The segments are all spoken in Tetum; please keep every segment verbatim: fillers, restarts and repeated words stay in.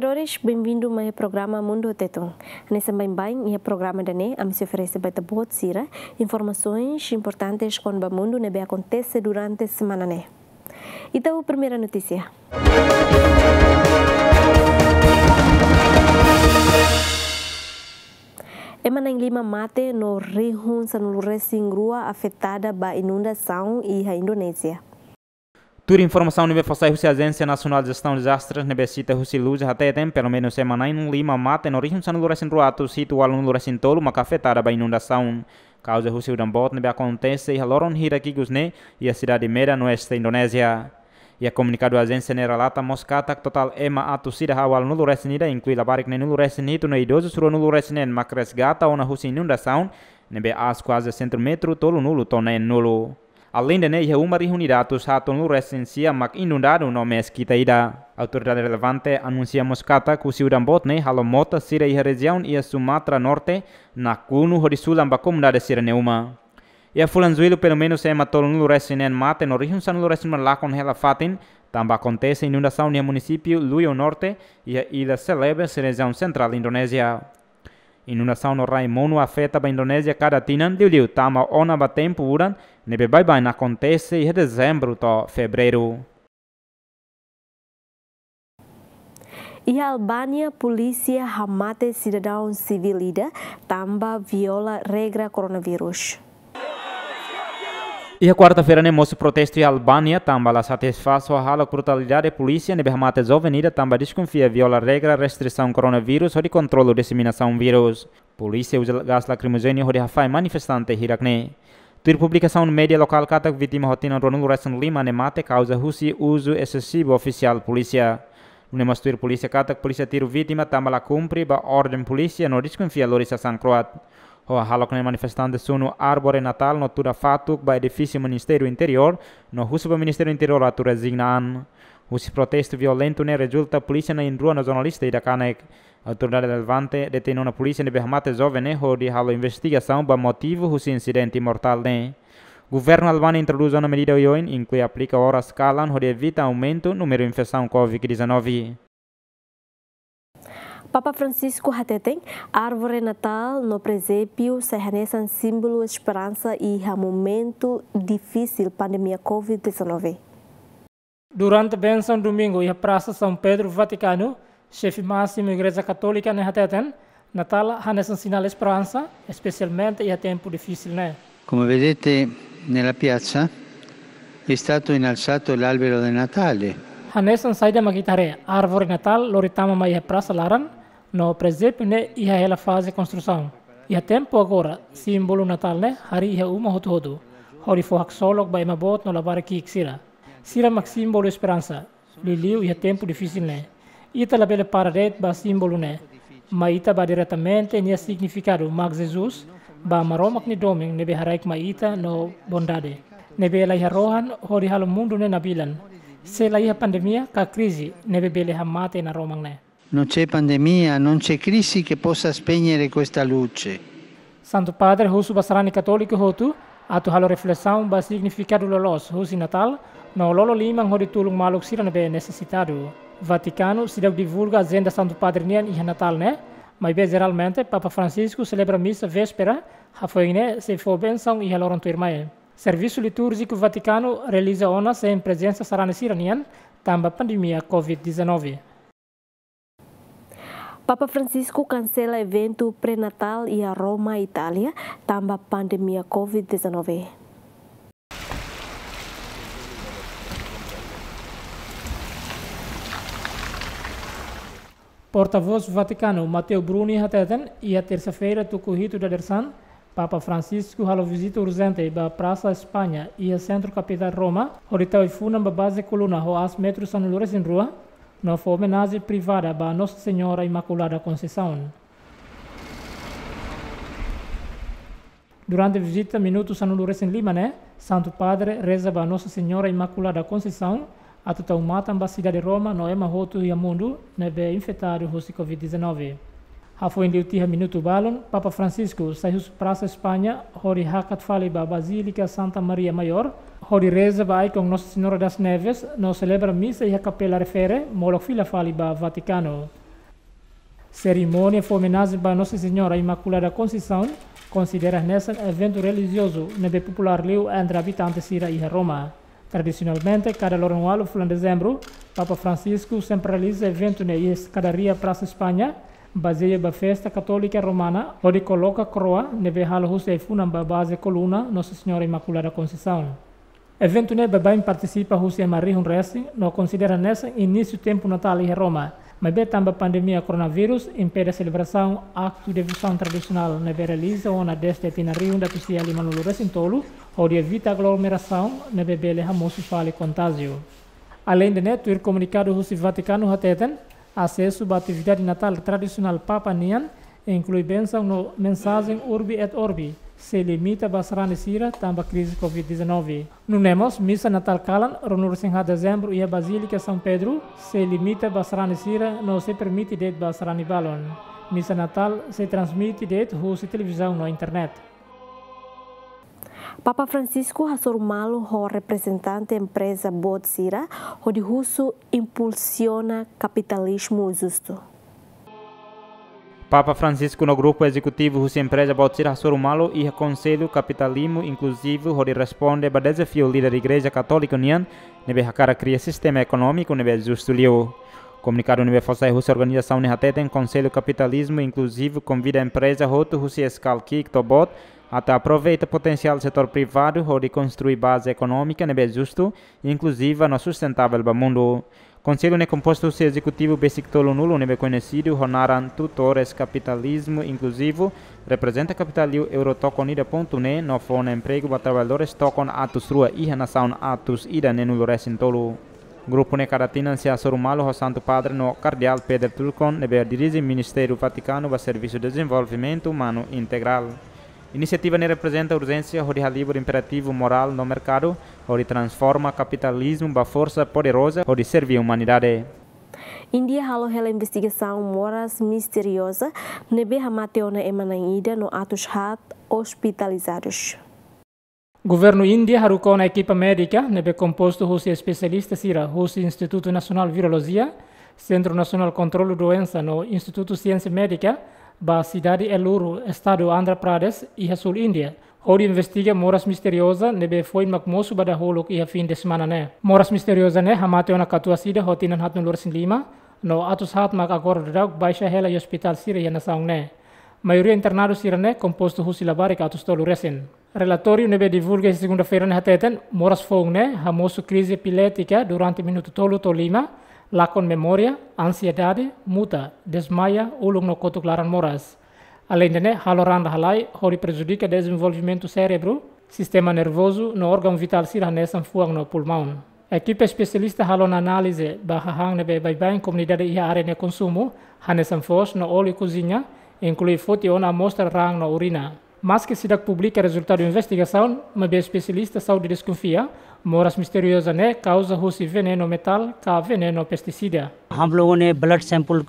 Telespetadores, benvindu mai programa Mundu Tetun. Hanesan baibain iha programa ida-ne'e, ami sei oferese ba ita-boot sira informasoens importantes kona-ba mundu ne'ebé akontese durante semana ne'e. Ita ho primeira notísia. Ema na'in lima mate no rihun sanulu-resin-rua afetada ba inundasaun iha Indonézia. Tuir informasaun ne'ebé fó sai husi Ajénsia Nasionál Jestaun Dezastres ne'ebé sita husi LUJA hateten, pelumenus ema na'in lima mate no rihun sanulu-resin-rua atus hitu ualunulu-resin-tolu maka afetada ba inundasaun kauza husi udan boot ne'ebé akontese iha loron hirak ikus ne'e iha sidade Medan, oeste Indonézia. Iha komunikadu ajénsia ne'e relata mós katak totál ema atus ida haat ualunulu-resin-ida, inklui labarik neenulu-resin-hitu no idozus ruanulu-resin-neen mak resgata ona husi inundasaun ne'ebé aas kuaze sentru metru tolunulu to'o neenulu. Aleinde ne'e, iha uma rihun ida atus haatnulu-resin-sia mak inundadu no meskita ida. Autoridade relevante anunsia mós katak husi udan boot ne'e halo mota sira iha rejiaun iha Sumatra Norte nakonu hodi sulan ba komunidade sira-nia uma. Iha fulan Jullu, pelumenus ema tolunulu-resin-neen mate no rihun sanulu-resin-rua lakon hela fatin, tanba akontese inundasaun iha munisípiu Luyo Norte, iha illa Celebes, rejiaun sentrál Indonézia. Inundasaun no rai monu afeta ba Indonézia kada tinan, liuliu tama ona ba tempu udan, ne'ebé baibain akontese iha Dezembru to'o Fevereiru. Iha Albánia, polísia hamate sidadaun sivíl ida tanba viola regra koronavírus. Iha kuarta-feira ne'e mosu protestu iha Albánia tanba la satisfás ho hahalok brutalidade polísia ne'ebé hamate joven ida tanba deskonfia viola regra restrisaun koronavírus hodi kontrolu diseminasaun vírus. Polísia uza gás lakrimojéneu hodi hafahe manifestante hirak ne'e. Tuir publikasaun média lokál katak vítima ho tinan ruanulu-resin-lima ne'e mate kauza husi uzu esesivu ofisiál polísia. Nune'e mós tuir polísia katak polísia tiru vítima tanba la kumpre ba orden polísia no deskonfia lori sasán kro'at. Ho hahalok ne'e manifestante sunu árvore Natál no tuda fatuk ba edifísiu Ministériu Interiór no husu ba Ministériu Interiór atu rezigna an. Husi protestu violentu ne'e rezulta polísia na'in-rua no jornalista ida kanek. Autoridade relevante detein ona polísia ne'ebé hamate joven ne'e hodi halo investigasaun ba motivu husi insidente mortál ne'e. Governu Albánia introdús ona medida oioin, inklui aplika oras kalan hodi evita aumentu númeru infesaun covid dezanove. Papa Francisco hateten, árvore Natál no prezépiu sai hanesan símbolu esperansa iha momentu difisil pandemia covid dezanove. Durante bensaun domingu iha Prasa São Pedro, Vatikanu, xefe másimu Igreja Katólika ne'e hateten, Natál hanesan sinál esperansa, espesialmente iha tempu difisil ne'e. Come vedete, nella piazza è stato innalzato l'albero del Natale. Hanesan saida mak ita haree, árvore Natál lori tama mai iha prasa laran, no prezépiu ne'e iha hela faze konstrusaun. Iha tempu agora, símbolu Natál ne'e harii iha uma hotu-hotu, hodi fó haksolok ba ema boot no labarik ki'ik sira. Sira mak símbolu esperansa, liuliu iha tempu difisil ne'e. Ita labele para de'it ba símbolu ne'e, mai ita bá diretamente nia signifikadu mak Jesus, ba Maromak nia domin ne'ebé haraik mai ita no bondade, ne'ebé la iha rohan hodi halo mundu ne'e nabilan. Se la iha pandemia ka krize ne'ebé bele hamate naroman ne'e. Non c'è pandemia, non c'è crisi che possa spegnere questa luce. Santu Padre husu ba sarani katóliku hotu atu halo reflesaun ba signifikadu loloos husi Natál, no lolo liman hodi tulun maluk sira ne'ebé nesesitadu. Vatikanu seidauk divulga ajenda Santu Padre nian iha Natál ne'e, maibé jeralmente Papa Francisco selebra misa véspera, hafoin ne'e sei fó bensaun iha loron tuirmai. Servisu litúrjiku Vatikanu realiza ona sein prezensa sarani sira-nian, tanba pandemia covid dezanove. Papa Francisco kansela eventu pré-Natál iha Roma, Itália, tanba pandemia covid dezanove. Portavós Vatikanu, Matteo Bruni, hateten, iha tersa-feira, tuku hitu dadeer-saan, Papa Francisco halo vizita urjente ba Prasa España, iha sentru kapitál Roma, hodi tau ai-funan ba baze koluna ho aas metru sanulu-resin-rua, no fó omenajen privada ba Nossa Senhora Imaculada Conceição. Durante vizita minutu sanulu-resin-lima ne'e, Santu Padre reza ba Nossa Senhora Imaculada Conceição, atu tau matan ba sidade Roma no ema hotu iha mundu ne'ebé infetadu husi covid dezanove. Hafoin liu tiha minutu balun, Papa Francisco sai husi Prasa España hodi hakat fali ba Bazílika Santa Maria Maior, hodi reza ba ikon Nossa Senhora das Neves, no selebra misa iha Kapela Refere, molok fila fali ba Vatikanu. Serimónia fó omenajen ba Nossa Senhora Imaculada Conceição konsidera hanesan eventu relijiozu ne'ebé populár liu entre abitante sira iha Roma. Tradisionalmente, kada loron ualu fulan Dezembru, Papa Francisco sempre realiza eventu ne'e iha eskadaria Prasa España, bazeia ba festa Katólika Romana, hodi koloka koroa ne'ebé halo husi ai-funan ba baze koluna Nossa Senhora Imaculada Conceição. Eventu ne'e baibain partisipa husi ema rihun resin, no konsidera hanesan inísiu tempu Natál iha Roma. Maibé tanba pandemia koronavírus impede selebrasaun aktu devosaun tradisionál ne'ebé realiza ona dezde tinan rihun atus sia limanulu resin tolu, hodi evita aglomerasaun ne'ebé bele hamosu fali kontájiu. Aleinde ne'e, tuir komunikadu husi Vatikanu hateten, asesu ba atividade Natál tradisionál Papa nian, inklui bensaun no mensajen Urbi et Orbi, sei limita ba sarani sira tanba krize covid dezanove. Nune'e mós, misa Natál kalan, ruanulu resin haat Dezembru, iha Bazílika São Pedro, sei limita ba sarani sira no sei permite de'it ba sarani balun. Misa Natál sei transmite de'it husi televizaun no internet. Papa Francisco hasoru malu ho reprezentante empreza boot sira hodi husu impulsiona kapitalizmu justu. Papa Francisco no grupu ezekutivu husi empreza boot sira hasoru malu iha Konsellu Kapitalizmu Inkluzivu hodi responde ba dezafiu líder Igreja Katólika nian ne'ebé hakarak kria sistema ekonómiku ne'ebé justu liu. Komunikadu ne'ebé fó sai husi organizasaun ne'e hateten Konsellu Kapitalizmu Inkluzivu konvida empreza hotu husi eskalki'ik to'o boot atu aproveita potensiál setór privadu hodi konstrui baze ekonómika ne'ebé justu, inkluziva no sustentável ba mundu. Konsellu ne'e kompostu husi ezekutivu besik tolunulu ne'ebé koñesidu ho naran tutores kapitalizmu inkluzivu, reprezenta kapitál liu euro tokon ida pontu ne'e no fó ona empregu ba traballadores tokon atus rua iha nasaun atus ida neenulu resin tolu. Grupu ne'e kada tinan sei hasoru malu ho Santu Padre no Kardeál Peter Turkson ne'ebé dirije Ministériu Vatikanu ba Servisu Dezenvolvimentu Umanu Integrál. Inisiativa ne'e reprezenta urjénsia hodi halibur imperativu morál no merkadu, hodi transforma kapitalizmu ba forsa poderoza hodi serve umanidade. Índia halo hela investigasaun moras misterioza ne'ebé hamate ona ema na'in ida no atus haat ospitalizadus. Governu Índia haruka ona ekipa médika ne'ebé kompostu husi espesialista sira husi Institutu Nasionál Virolojia, Sentru Nasionál Kontrolu Doensa no Institutu Siénsia Médika ba sidade Eluru, estadu Andhra Pradesh, iha súl Índia, hodi investiga moras misterioza ne'ebé foin mak mosu ba dahuluk iha fin de semana ne'e. Moras misterioza ne'e hamate ona katuas ida ho tinan haatnulu resin lima, no atus haat mak agora daudauk baixa hela iha ospitál sira iha nasaun ne'e. Maioria internadu sira ne'e kompostu husi labarik atus tolu resin. Relatóriu ne'ebé divulga iha segunda-feira ne'e hateten, moras foun ne'e hamosu krize epilétika durante minutu tolu to'o lima, lakon memória, ansiedade, muta, desmaia, ulun no kotuk laran moras. Aleinde ne'e, halo raan la halai, hodi prejudika dezenvolvimentu sérebru, sistema nervozu no órgaun vitál sira hanesan fuan no pulmaun. Ekipa espesialista halo ona análize ba hahán ne'ebé baibain komunidade iha área ne'e konsumu, hanesan foos no óliu koziña, inklui foti ona amostra raan no urina. Maske seidauk publika rezultadu investigasaun, maibé espesialista saúde deskonfia, moras misterioza ne'e kauza husi venenu metál ka venenu pestisida. हम लोगों ने blood sample,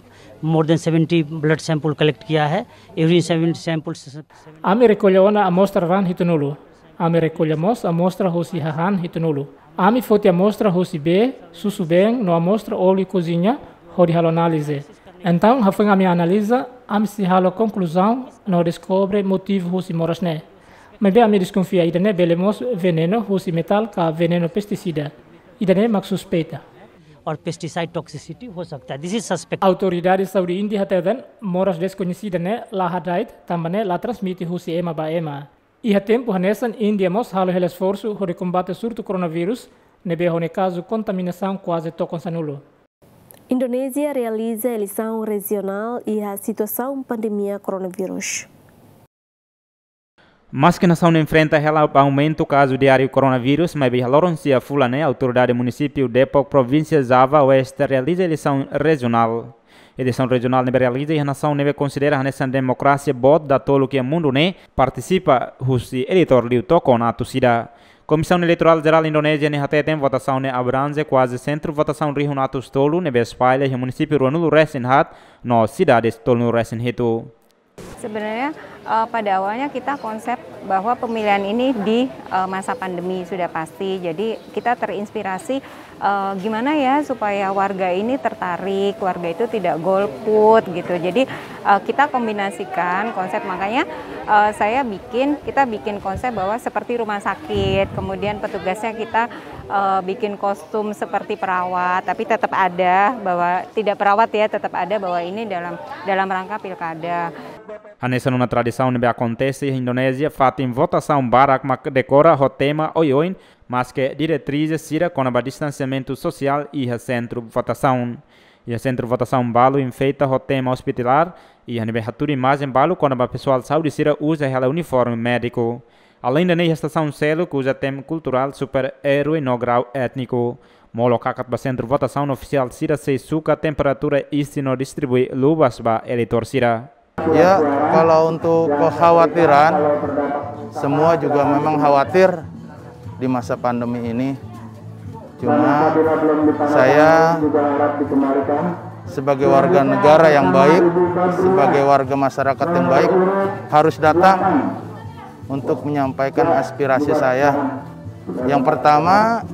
more than seventy blood sample collect किया है। Urine seven sample. Ami rekolla ona amostra raan hitunulu. Ami rekolla mós amostra husi hahán hitunulu. Ami foti amostra husi bee, susubeen no amostra óliu koziña hodi halo análize. Entaun, hafoin ami analiza, ami sei halo konkluzaun no deskobre motivu husi moras ne'e. Maibé ami deskonfia ida-ne'e bele mós venenu husi metál ka venenu pestisida. Ida-ne'e mak suspeita. और pesticide toxicity हो सकता है, this is suspect. Autoridade saúde Índia hateten, moras deskoñesida ne'e la hada'et, tanba ne'e la transmite husi ema ba ema. Iha tempu hanesan, Índia mós halo hela esforsu hodi kombate surtu koronavírus, ne'ebé ho nia kazu kontaminasaun kuaze tokon sanulu. Indonézia realiza eleisaun rejionál iha situasaun pandemia koronavírus. Maske nasaun enfrenta hela aumentu kazu diáriu koronavírus, maibé iha loron sia fulan ne'e, autoridade munisípiu Depok, provínsia Java Oeste, realiza eleisaun rejionál. Eleisaun rejionál ne'ebé realiza iha nasaun ne'ebé konsidera hanesan demokrasia boot datoluk iha mundu ne'e, partisipa husi eleitór liu tokon atus ida. Komisaun Eleitorál Jerál Indonézia ne'e hateten votasaun ne'e abrange kuaze sentru votasaun rihun atus tolu ne'ebé espalla iha munisípiu ruanulu resin haat no sidades tolunulu resin hitu. Sebenarnya, eh, pada awalnya kita konsep bahwa pemilihan ini di, eh, masa pandemi sudah pasti. Jadi kita terinspirasi, eh, gimana ya supaya warga ini tertarik, warga itu tidak golput gitu. Jadi, eh, kita kombinasikan konsep, makanya, eh, saya bikin, kita bikin konsep bahwa seperti rumah sakit, kemudian petugasnya kita, eh, bikin kostum seperti perawat, tapi tetap ada bahwa, tidak perawat ya, tetap ada bahwa ini dalam, dalam rangka pilkada. Hanesan ona tradisaun ne'ebé akontese iha Indonézia, fatin votasaun barak mak dekora ho tema oioin, maske diretrizes sira kona-ba distansiamentu sosiál iha sentru votasaun. Iha sentru votasaun balu enfeita ho tema hospitalar, iha ne'ebé hatudu imajen balu kona-ba pesoál saúde sira uza hela uniforme médiku. Aleinde ne'e, iha estasaun seluk uza tema kulturál super-erói no grau étniku. Molok hakat ba sentru votasaun, ofisiál sira sei suka temperatura isin no distribui luvas ba eleitór sira. Ya, kalau untuk kekhawatiran, semua juga memang khawatir di masa pandemi ini. Cuma saya sebagai warga negara yang baik, sebagai warga masyarakat yang baik, harus datang untuk menyampaikan aspirasi saya. Yang pertama,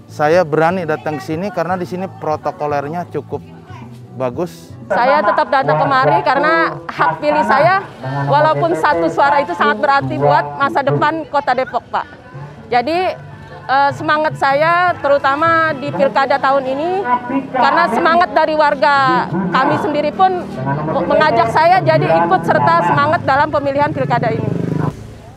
saya berani datang ke sini karena di sini protokolernya cukup bagus. Saya tetap datang kemari karena hak pilih saya, walaupun satu suara itu sangat berarti buat masa depan Kota Depok, Pak. Jadi, eh, semangat saya terutama di pilkada tahun ini, karena semangat dari warga kami sendiri pun mengajak saya jadi ikut serta semangat dalam pemilihan pilkada ini.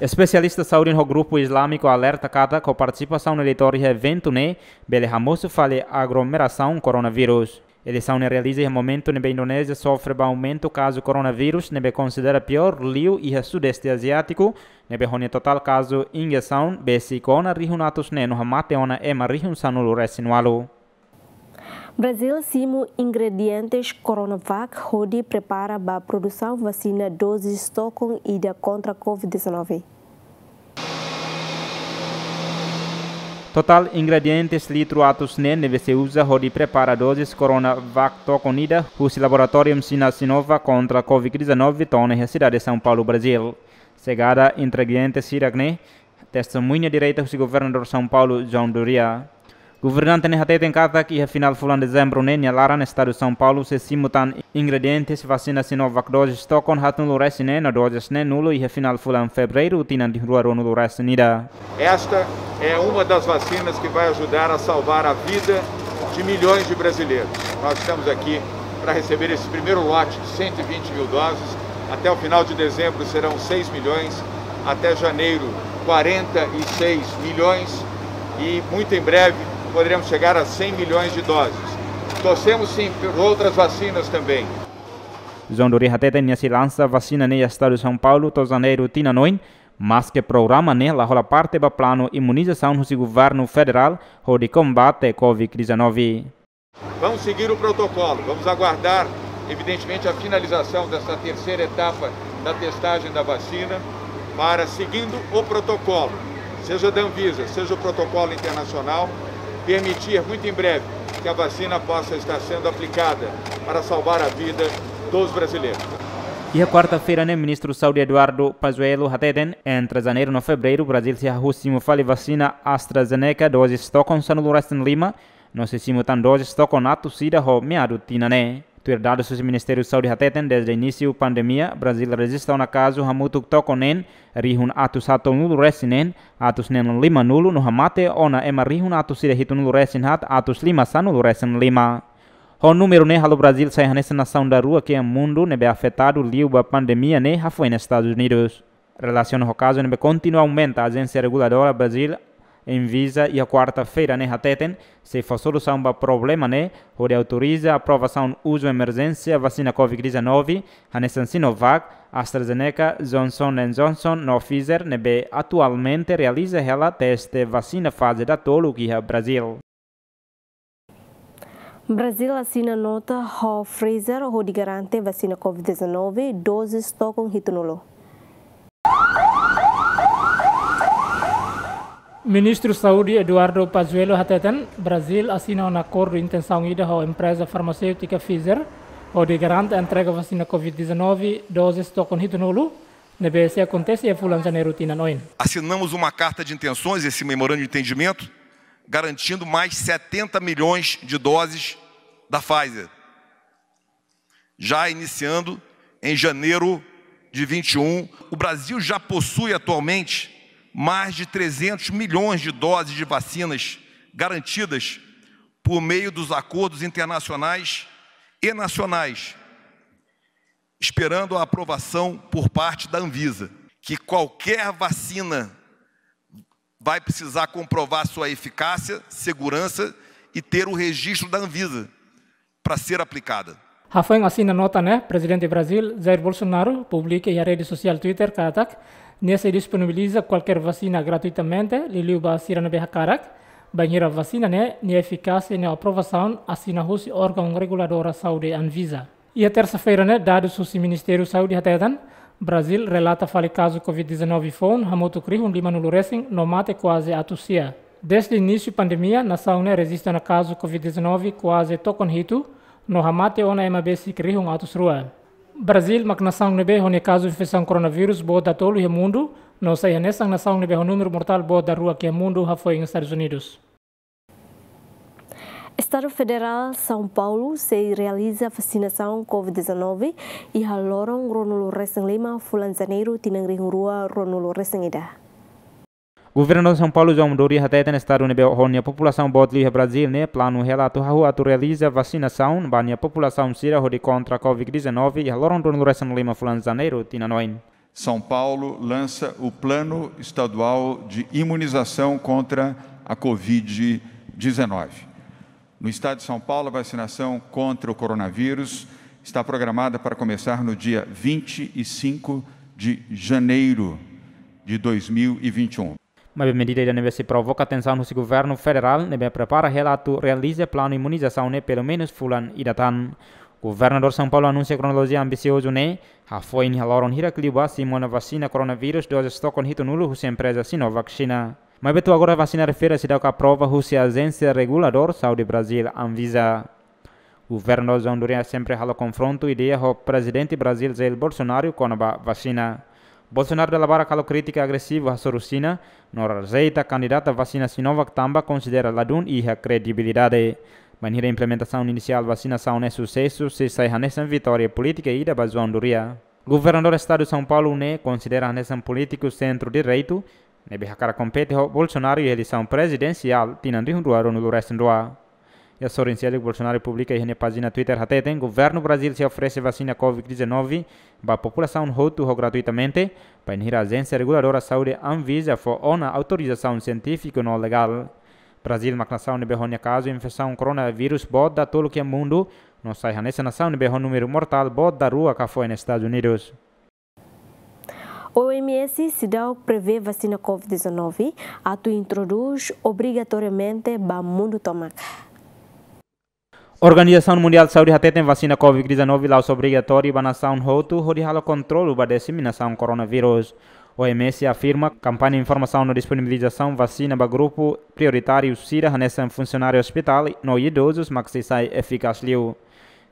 Espesialista saúde ho grupu islámiku alerta katak ho partisipasaun eleitór iha eventu ne'e bele hamosu fali aglomerasaun koronavírus. Eleisaun ne'e realiza iha momentu ne'ebé Indonézia sofre ba aumentu kazu koronavírus ne'ebé konsidera piór liu iha Sudeste Aziátiku, ne'ebé ho nia totál kazu injesaun besik ona rihun atus neen no hamate ona ema rihun sanulu-resin-ualu. Brazil simu ingredientes Coronavac hodi prepara ba produsaun vasina dozes tokon ida kontra covid dezanove. Totál ingredientes litru atus neen ne'ebé sei uza hodi prepara dozes Coronavac tokon ida husi laboratóriu China Sinovac kontra covid dezanove to'o ona iha sidade São Paulo, Brazil. Xegada ingredientes sira-ne'e testemuña direta husi Governadór São Paulo, João Dória. Governante ne'e hateten katak iha final fulan Dezembru ne'e nia laran estadu São Paulo sei simu tan ingredientes vasina Sinovac dozes tokon haatnulu-resin-neen no dozes neenulu iha final fulan Fevereiru tinan rua ruanulu-resin-ida. Esta é uma das vacinas que vai ajudar a salvar a vida de milhões de brasileiros. Nós estamos aqui para receber esse primeiro lote de cento e vinte mil doses. Até o final de dezembro serão seis milhões. Até janeiro, quarenta e seis milhões. E muito em breve poderemos chegar a cem milhões de doses. Torcemos sim por outras vacinas também. João Dória hateten nia sei lansa vasina ne'e iha estadu São Paulo to'o Janeiru tinan oin, maske programa ne'e la hola parte ba planu imunizasaun husi governu federál hodi kombate covid dezanove. Vamos seguir o protocolo, vamos aguardar, evidentemente, a finalização dessa terceira etapa da testagem da vacina, para, seguindo o protocolo, seja da Anvisa, seja o protocolo internacional, permitir muito em breve que a vacina possa estar sendo aplicada para salvar a vida dos brasileiros. Iha kuarta-feira ne'e, Ministru Saúde Eduardo Pazuello hateten, entre Janeiru no Fevereiru, Brazil sei hahú simu fali vasina AstraZeneca dozes tokon sanulu-resin-lima, no sei simu tan dozes tokon atus ida ho meadu tinan ne'e. Tuir dadus husi Ministériu Saúde hateten, dezde inísiu pandemia, Brazil rejista ona kazu hamutuk tokon neen rihun atus haatnulu-resin-neen atus neenulun limanulu no hamate ona ema rihun atus ida hitunulu-resin-haat atus lima sanulu-resin-lima. Ho númeru ne'e halo Brazil sai hanesan nasaun daruak iha mundu ne'ebé afetadu liu ba pandemia ne'e hafoin Estadus Unidus. Relasiona ho kazu ne'ebé kontinua aumenta, ajénsia reguladora Brazil, Anvisa, iha kuarta-feira ne'e hateten sei fó solusaun ba problema ne'e hodi autoriza aprovasaun uzu emerjénsia vasina covid dezanove, hanesan Sinovac, AstraZeneca, Johnson and Johnson no Pfizer, ne'ebé atualmente realiza hela teste vasina faze datoluk iha Brazil. Brazil asina nota ho Pfizer hodi garante vasina covid dezanove dozes tokon hitunulu. Ministru Saúde Eduardo Pazuello hateten, Brazil asina ona akordu intensaun ida ho empreza farmaséutika Pfizer, hodi garante entrega vasina covid dezanove dozes tokon hitunulu, ne'ebé sei akontese iha fulan Janeiru tinan oin. Assinamos uma carta de intenções, esse memorando de entendimento, garantindo mais setenta milhões de doses da Pfizer, já iniciando em janeiro de vinte e um. O Brasil já possui atualmente mais de trezentos milhões de doses de vacinas garantidas por meio dos acordos internacionais e nacionais, esperando a aprovação por parte da Anvisa, que qualquer vacina vai precisar comprovar sua eficácia, segurança e ter o registro da Anvisa para ser aplicada. Hafoin asina nota ne'e, Prezidente Brazil, Jair Bolsonaro, publika iha rede sosiál Twitter katak nia sei disponibiliza kualkér vasina gratuitamente, liuliu ba sira ne'ebé hakarak, bainhira vasina ne'e nia efikásia no aprovasaun asina husi órgaun reguladora saúde Anvisa. Iha tersa-feira ne'e, dadus husi Ministériu Saúde hateten, Brazil relata fali kazu covid dezanove foun hamutuk rihun limanulu resin no mate kuaze atus sia. Dezde inísiu pandemia, nasaun ne'e rejista ona kazu covid dezanove kuaze tokon hitu, no hamate ona ema besik rihun atus rua. Brazil mak nasaun ne'ebé ho nia kazu infesaun koronavírus boot datolu iha mundu, no sai hanesan nasaun ne'ebé ho númeru mortál boot daruak iha mundu hafoin Estadus Unidus. Estadu Federál São Paulo sei realiza vasinasaun covid dezanove iha loron ruanulu resin lima fulan Janeiru tinan rihun rua ruanulu resin ida. Governadór São Paulo, João Dória, hateten estadu ne'ebé ho nia populasaun boot liu iha Brazil ne'e planu hela atu hahú atu realiza vasinasaun ba nia populasaun sira hodi kontra covid dezanove iha loron ruanulu resin lima fulan Janeiru tinan oin. São Paulo lança o Plano Estadual de Imunização contra a covid dezanove. No estado de São Paulo, a vacinação contra o coronavírus está programada para começar no dia vinte e cinco de janeiro de dois mil e vinte e um. Maibé medida ida ne'ebé sei provoka tensaun husi governu federál ne'ebé prepara hela atu realiza planu imunizasaun ne'e pelumenus fulan ida tan. Governadór São Paulo anunsia kronolojia ambisiozu ne'e hafoin iha loron hirak liubá simu ona vasina koronavírus dozes tokon hitunulu husi empreza Sinovac Xina. Maibé to'o agora vasina refere seidauk aprova husi ajénsia reguladór saúde Brazil, Anvisa. Governadór João Dória sempre halo konfrontu ideia ho Prezidente Brazil Jair Bolsonaro kona-ba vasina. Bolsonaro dala barak halo krítika agresivu hasoru Xina, no rejeita kandidata vasina Sinovac tanba konsidera ladún iha kredibilidade. Bainhira implementasaun inisiál vasinasaun ne'e susesu, sei sai hanesan vitória polítika ida ba João Dória. Governadór Estadu São Paulo ne'e konsidera hanesan polítiku sentru-direitu ne'ebé hakarak kompete ho Bolsonaro iha eleisaun prezidensiál tinan rihun rua ruanulu resin rua. Iha sorin seluk, Bolsonaro publika iha nia pájina Twitter hateten governu Brazil sei oferese vasina covid dezanove ba populasaun hotu ho gratuitamente, bainhira ajénsia reguladora saúde Anvisa fó ona autorizasaun sientífiku no legál. Brazil mak nasaun ne'ebé ho nia kazu infesaun koronavírus boot datoluk iha mundu, no sai hanesan nasaun ne'ebé ho númeru mortál boot daruak hafoin Estadus Unidus. O M S seidauk prevee vasina covid dezanove atu introdús obrigatoriamente ba mundu tomak. Organizasaun Mundiál Saúde hateten vasina covid dezanove la'ós obrigatóriu ba nasaun hotu hodi halo kontrolu ba diseminasaun koronavírus. O M S afirma kampaña informasaun no disponibilizasaun vasina ba grupu prioritáriu sira hanesan funsionáriu ospitál no idozus mak sei sai efikás liu.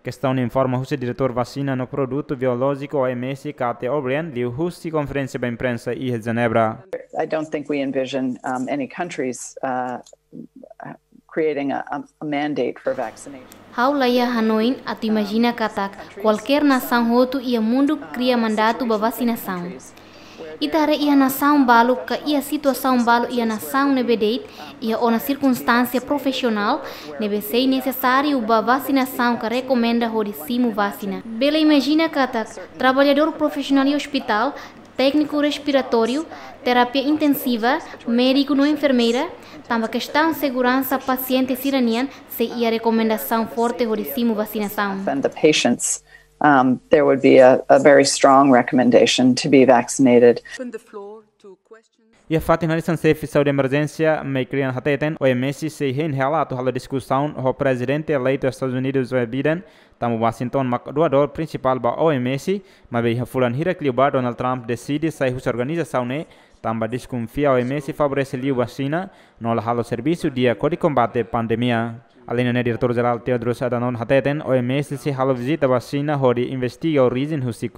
Kestaun ne'e informa husi diretór vasina no produtu biolójiku O M S, Kate O'Brien, liuhusi konferénsia ba imprensa iha Jenebra. I don't think we envision, um, any countries, uh, creating a, a, a mandate for vaccination. Ha'u la iha hanoin atu imajina katak kualkér nasaun hotu iha mundu kria mandatu ba vasinasaun. Ita haree iha nasaun balu ka iha situasaun balu iha nasaun ne'ebé de'it iha ona sirkunstánsia profisionál ne'ebé sei nesesáriu ba vasinasaun ka rekomenda hodi simu vasina. Bele imajina katak traballadór profisionál iha ospitál, tékniku respiratóriu, terapia intensiva, médiku no enfermeira, tanba kestaun seguransa pasiente sira-nian sei iha rekomendasaun forte hodi simu vasinasaun. And the patients, um, there would be a, a very strong recommendation to be vaccinated. Iha fatin hanesan, xefe saúde emerjénsia, Mike Ryan, hateten O M S sei hein hela atu halo diskusaun ho Prezidente eleitu Estadus Unidus, Joe Biden, tanba Washington mak doadór prinsipál ba O M S, maibé iha fulan hirak liubá Donald Trump deside sai husi organizasaun ne'e tanba deskonfia OMS favorese liu ba Xina no la halo servisu di'ak hodi kombate pandemia. Alende ne'e, Diretór Jerál Tedros Adhanom hateten, OMS sei halo vizita ba Xina hodi investiga orijen husi